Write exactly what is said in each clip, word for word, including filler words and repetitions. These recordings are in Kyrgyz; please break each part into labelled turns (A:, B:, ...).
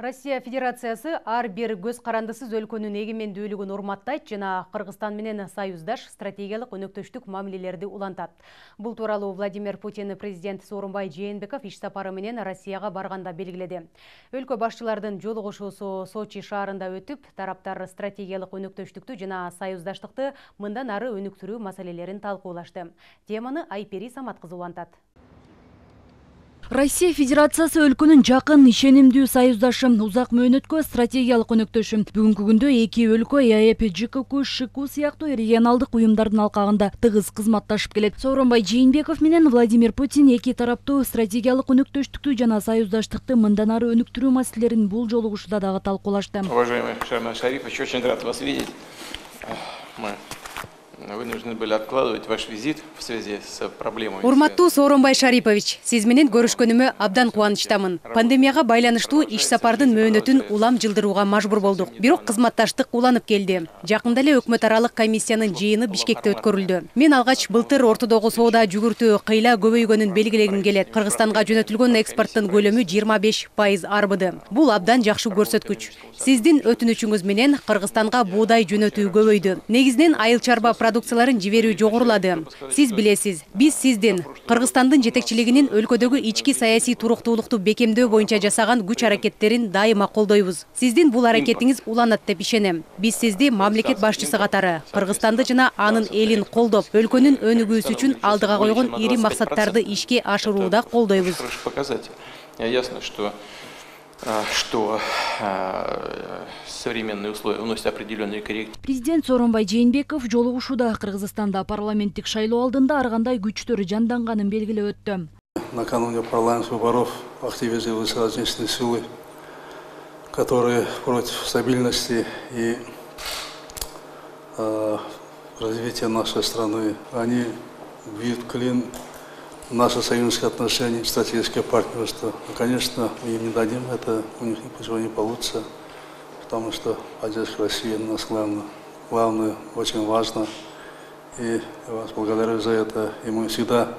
A: Россия Федерациясы ар бир көз карандысыз өлкөнүн эгемендүүлүгүн урматтайт жана Кыргызстан менен союздаш стратегиялык өнөктөштүк мамилелерди улантат. Бул тууралуу Владимир Путин президент Сооронбай Жээнбеков иш сапары менен Россияга барганда белгиледи. Өлкө башчылардын жолугушуусу Сочи шаарында өтүп, тараптар стратегиялык өнөктөштүктү жана союздаштыкты мындан ары өнүктүрүү маселелерин талкуулашты. Теманы Айпери Самат кызы улантат.
B: Россия Федерациясы өлкөнүн жакын ишенимдүү союздашы, узак мөөнөткө стратегиялык өнөктөшү. Бүгүнкү күндө эки өлкө ЭАЭП, ЖКК, ШКУ сыяктуу регионалдык уюмдардын алкагында тыгыз кызматташып келет. Сооронбай Жээнбеков менен Владимир Путин эки тараптуу стратегиялык өнөктөштүктү жана союздаштыкты мындан ары өнүктүрүү маселелерин бул жолугушууда дагы талкуулашты.
C: Уважаемый Шарман Шарипович, очень рад вас видеть. Мы вынуждены были откладывать ваш визит в связи с проблемой.
A: Урматтуу Сооронбай Шарипович, сиз менен көрүшкөнүмө абдан кубанычтамын. Пандемияга байланыштуу иш сапардын мөөнөтүн улам жылдырууга мажбур болдук. Бирок кызматташтык уланып келди. Жакында эле өкмөт аралык комиссиянын жыйыны Бишкекте өткөрүлдү. Мен алгач былтыр ортодогу соода жүгүртүү кыйла көбөйгөнүн белгилегим келет. Кыргызстанга жөнөтүлгөн экспорттун көлөмү жыйырма беш пайыз арбыды. Бул абдан жакшы көрсөткүч. Сиздин өтүнүчүңүз менен Кыргызстанга буудай жөнөтүү көбөйдү. Негизинен айыл чарба продукцияларын жиберүү жогорулады. Сиз билесиз, биз сиздин Кыргызстандын жетекчилигинин өлкөдөгү ички саясий туруктуулукту бекемдөө боюнча жасаган күч аракеттерин дайыма колдойбуз. Сиздин бул аракетиңиз уланат деп ишенем. Биз сизди мамлекет башчысы катары Кыргызстанды жана анын элин колдоп, өлкөнүн өнүгүүсү үчүн алдыга койгон ири максаттарды ишке ашырууда колдойбуз.
C: Ясно, что что современные условия вносят определенные коррективы.
B: Президент Сооронбай Жээнбеков жолугушууда Кыргызстанда парламенттик шайлоо алдында ар кандай күчтөр жанданганын белгилеп өттү.
D: Накануне парламентских выборов активизировались различные силы, которые против стабильности и э, развития нашей страны. Они бьют клин в наши союзнические отношения, стратегическое партнерство. И, конечно, мы им не дадим, это у них ничего не получится, потому что поддержка России у нас главное, главное, очень важно. И я вас благодарю за это. И мы всегда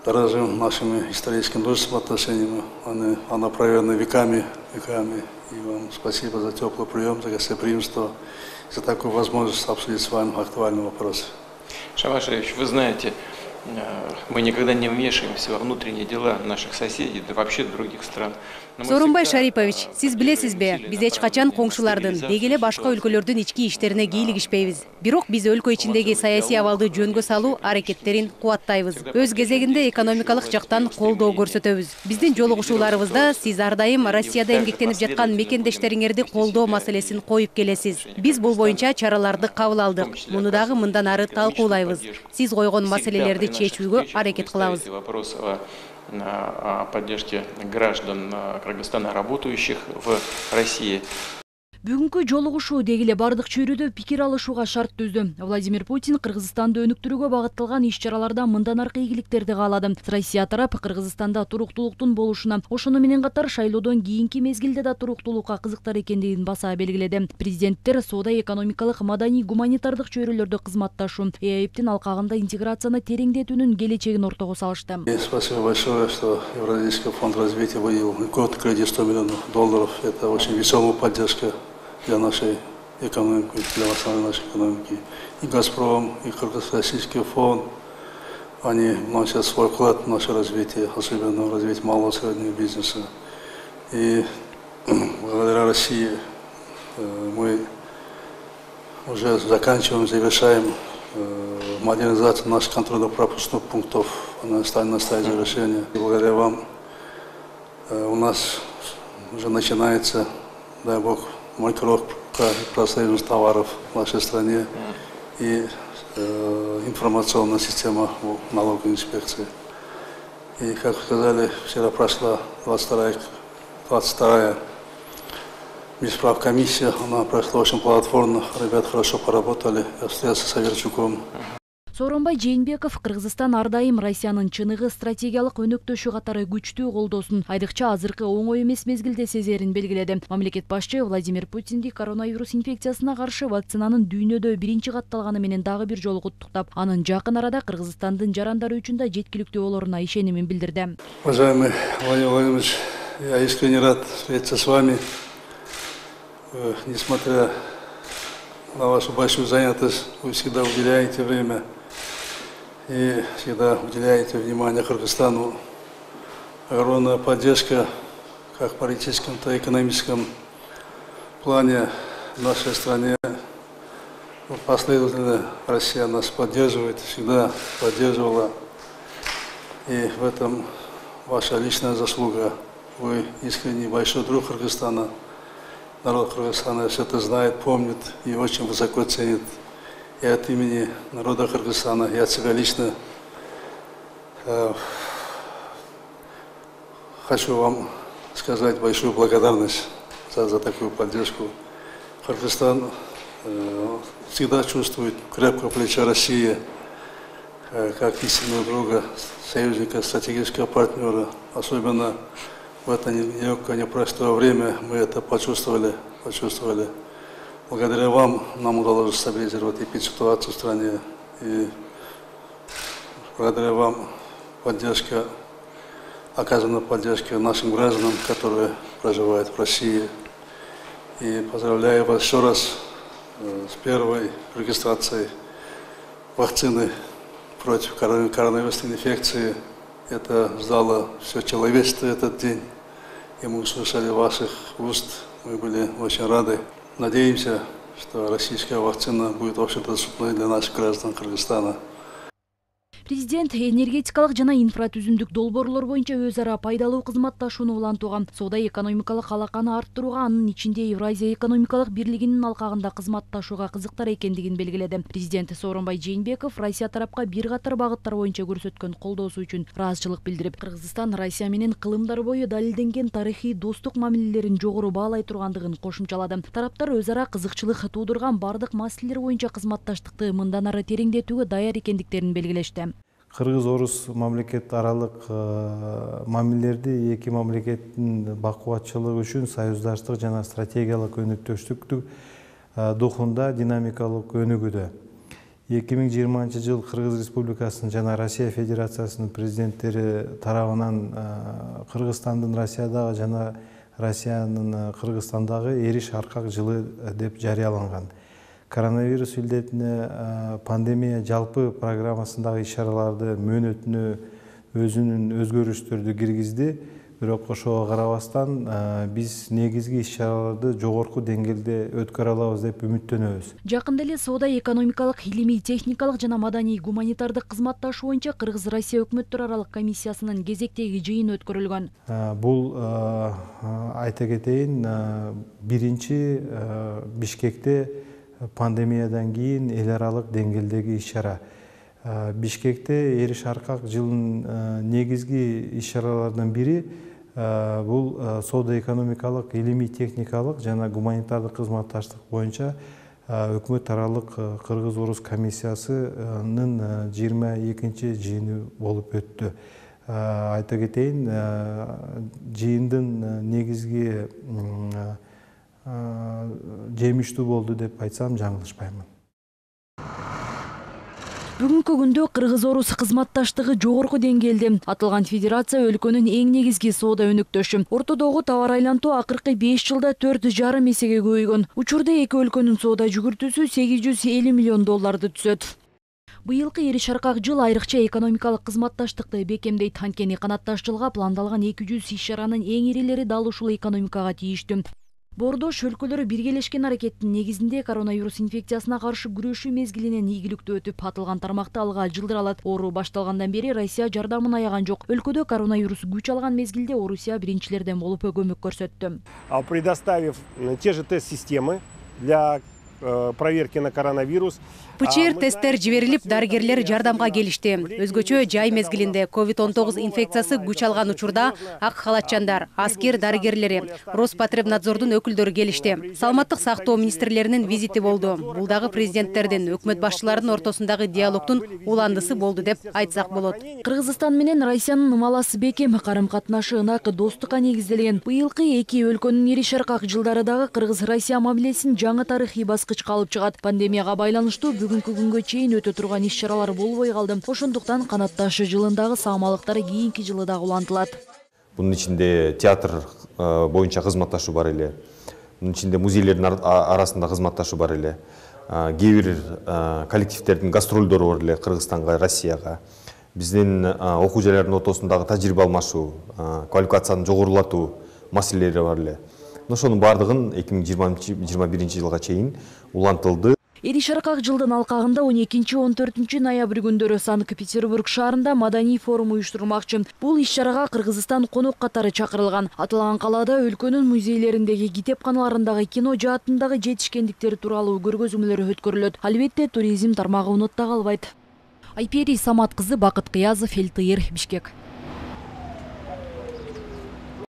D: дорожим нашими историческими дружественными отношениями. Они, она проверена веками, веками. И вам спасибо за теплый прием, за гостеприимство, за такую возможность обсудить с вами актуальный вопрос.
C: Шарман Шарипович, вы знаете, мы никогда не вмешиваемся во внутренние дела наших соседей, да вообще других стран.
A: Сооронбай Шарипович, сиз билесизби, биз эч качан коңшулардын, деги эле башка өлкөлөрдүн ички иштерине кийлигишпейбиз. Бирок биз өлкө ичиндеги саясий абалды жөнгө салуу аракеттерин кубаттайбыз. Өз кезегинде экономикалык жактан колдоо көрсөтөбүз. Биздин жолугушууларыбызда сиз ар дайым Россияда эмгектенип жаткан мекендештериңерди колдоо маселесин коюп келесиз. Биз бул боюнча чараларды кабыл алдык. Муну дагы мындан ары талкуулайбыз. Сиз койгон маселелерди чечүүгө аракет кылабыз.
C: О поддержке граждан Кыргызстана, работающих в России.
B: Бүгүнкү жолугушуу деги эле бардык чөйрөдө пикир алышууга шарт түздү. Владимир Путин Кыргызстанды өнүктүрүүгө багытталган иш-чараларда мындан аркы ийгиликтерди каалады. Россия тарап Кыргызстанда туруктуулуктун болушуна, ошону менен катар шайлоодон кийинки мезгилде да туруктуулукка кызыктар экендигин баса белгиледи. Президенттер соода экономикалык, маданий, гуманитардык чөйрөлөрдө кызматташуу, ЭАЭПтин алкагында интеграцияны тереңдетүүнүн келечегин ортого салышты.
D: Спасибо большое, что Евразийский фонд развития выделил год кредит сто миллионов долларов. Это очень весомая поддержка для нашей экономики, для основной нашей экономики. И «Газпром», и Кыргызско-Российский фонд, они вносят свой вклад в наше развитие, особенно в развитие малого и среднего бизнеса. И благодаря России мы уже заканчиваем, завершаем модернизацию наших контрольно-пропускных пунктов. Она станет на стадии завершения. И благодаря вам у нас уже начинается, дай Бог, маркировка профсоюзных товаров в нашей стране и э, информационная система налоговой инспекции. И, как вы сказали, вчера прошла двадцать вторая бесправ-комиссия, она прошла очень плодотворно, ребята хорошо поработали, я встретился с Аверчуком.
B: Сооронбай Жээнбеков Кыргызстан ар дайым Россиянын чыныгы стратегиялык өнөктөшү катары күчтүү колдоосун, айрыкча азыркы оңой эмес мезгилде сезерин белгиледи. Мамлекет башчы Владимир Путинди коронавирус инфекциясына каршы вакцинанын дүйнөдө биринчи катталганы менен дагы бир жолу куттуктап, анын жакын арада Кыргызстандын жарандары үчүн да жеткиликтүү болоруна ишенимин билдирди.
D: Уважаемый Владимир Владимирович, я искренне рад встретиться с вами. Несмотря на вашу большую занятость, вы всегда уделяете время и всегда уделяете внимание Кыргызстану. Огромная поддержка как в политическом, так и экономическом плане в нашей стране. Последовательно Россия нас поддерживает, всегда поддерживала. И в этом ваша личная заслуга. Вы искренний большой друг Кыргызстана. Народ Кыргызстана все это знает, помнит и очень высоко ценит. И от имени народа Кыргызстана я от себя лично э, хочу вам сказать большую благодарность за, за такую поддержку. Кыргызстан э, всегда чувствует крепкое плечо России, э, как истинного друга, союзника, стратегического партнера. Особенно в это нелегкое, непростое время мы это почувствовали, почувствовали. Благодаря вам нам удалось стабилизировать эпидситуацию в стране. И благодаря вам поддержка, оказана поддержка нашим гражданам, которые проживают в России. И поздравляю вас еще раз с первой регистрацией вакцины против коронавирусной инфекции. Это ждало все человечество этот день. И мы услышали ваших уст, мы были очень рады. Надеемся, что российская вакцина будет общедоступной для наших граждан Кыргызстана.
B: Президент энергетикалык жана инфратүзүмдүк долбоорлор боюнча өз ара пайдалуу кызматташууну улантууга, соода-экономикалык алаканы арттырууга, анын ичинде Евразия экономикалык бирлигинин алкагында кызматташууга кызыктар экендигин белгиледи. Президент Сооронбай Жээнбеков Россия тарапка бир катар багыттар боюнча көрсөткөн колдоосу үчүн ыраазычылык билдирип, Кыргызстан Россия менен кылымдар бою далилденген тарыхый достук мамилелерин жогору баалай тургандыгын кошумчалады. Тараптар өз ара кызыкчылык туудурган бардык маселелер боюнча кызматташтыкты мындан ары тереңдетүүгө даяр экендиктерин белгилешти.
E: Кыргыз-орус мамлекет аралык мамилелерди эки мамлекеттин бакубатчылыгы үчүн союздаштык жана стратегиялык өнүктүштүктүк духунда динамикалык өнүгүүдө. эки миң жыйырманчы жыл Кыргыз Республикасынын жана Россия Федерациясынын президенттери тарабынан Кыргызстандын Россиядагы жана Россиянын Кыргызстандагы эриш аркак жылы деп жарыяланган. Коронавирус илдетине пандемия жалпы программасындагы иш-чараларды мөөнөтүнө өзүнүн өзгөрүштөрдү киргизди. Бирок ошого карабастан биз негизги иш-чараларды жогорку деңгээлде өткөрө алабыз деп үмүттөнөбүз.
B: Жакында эле соода-экономикалык, илимий, техникалык жана маданий гуманитардык кызматташуу боюнча Кыргыз-Россия өкмөттөр аралык комиссиясынын кезектеги жыйыны өткөрүлгөн.
E: Бул айта кетейин, биринчи Бишкекте пандемиядан кийин эл аралык деңгээлдеги иш-чара. Бишкекте эриш аркак жылдын негизги иш-чараларынын бири бул соода-экономикалык, илимий, техникалык жана гуманитардык кызматташтык боюнча өкмөт аралык Кыргыз-орус комиссиясынын жыйырма экинчи жыйыны болуп өттү. Айта кетейин, жыйындын негизги жемиштүү болду деп айтсам жаңылышпаймын.
B: Бүгүнкү күндө Кыргыз-орус кызматташтыгы жогорку деңгээлде. Аталган федерация өлкөнүн эң негизги соода өнүктөшү. Ортодогу товар айлантуу акыркы беш жылда төрт жарым эсеге көбөйгөн. Учурда эки өлкөнүн соода жүгүртүүсү сегиз жүз элүү миллион долларды түзөт. Быйылкы эриш аркак жыл айрыкча экономикалык кызматташтыкты бекемдейт. Анткени канатташ жылга пландалган эки жүз иш-чаранын эң ирилери дал ушул экономикага тийиштүү. Бордош өлкөлөрү биргелешкен аракеттин негизинде коронавирус инфекциясына каршы күрөшүү мезгилинен ийгиликтүү өтүп, атылган тармакты алга жылдыралат. Оору башталгандан бери Россия жардамын аяган жок. Өлкөдө коронавирус күч алган мезгилде Орусия биринчилерден болуп көмөк көрсөттү.
F: Предоставив те же тест-системы для проверки на коронавирус.
A: ПЧР тесттер жиберилип, дарыгерлер жардамга келишти. Өзгөчө жай мезгилинде ковид он тогуз инфекциясы күч алган учурда ак халатчандар, аскер дарыгерлери, Роспотребнадзордун өкүлдөрү келишти. Саламаттык сактоо министрлеринин визити болду. Бул дагы президенттердин, өкмөт башчыларынын ортосундагы диалогтун уландысы болду деп айтсак болот.
B: Кыргызстан менен Россиянын маласы бекем, карым-катнашы ынакы, достукка негизделген. Быйылкы эки өлкөнүн эриш аркак жылдары дагы Кыргыз-Россия мамилесин жаңы тарыхый баскычка алып чыгат. Пандемияга байланыштуу бүгүнкү күнгө чейин өтө турган иш-чаралар болбой калды. Ошондуктан канатташы жылындагы саамалыктар кийинки жылы дагы улантылат.
G: Мунун ичинде театр боюнча кызматташуу бар эле. Мунун ичинде музейлердин арасында кызматташуу бар эле. Кээ бир коллективдердин гастролдору бар эле Кыргызстанга, Россияга. Биздин окуу жайлардын ортосундагы тажрыйба алмашуу, квалификацияны жогорулатуу маселелери бар эле. Ошонун бардыгын эки миң жыйырма биринчи жылга чейин улантылды.
B: Эди Шаркак жылдын алкагында он экинчи он төртүнчү ноябрь күндөрү Санкт-Петербург шаарында маданий форум уюштурулмакчы. Бул иш-чарага Кыргызстан конок катары чакырылган. Аталган калаада өлкөнүн музейлериндеги, китепканаларындагы, кино жаатындагы жетишкендиктер тууралуу көргөзмөлөр өткөрүлөт. Албетте, туризм тармагы унутта калбайт. Айпери Самат кызы, Бакыт Кыязов, Эл Тыйыр, Бишкек.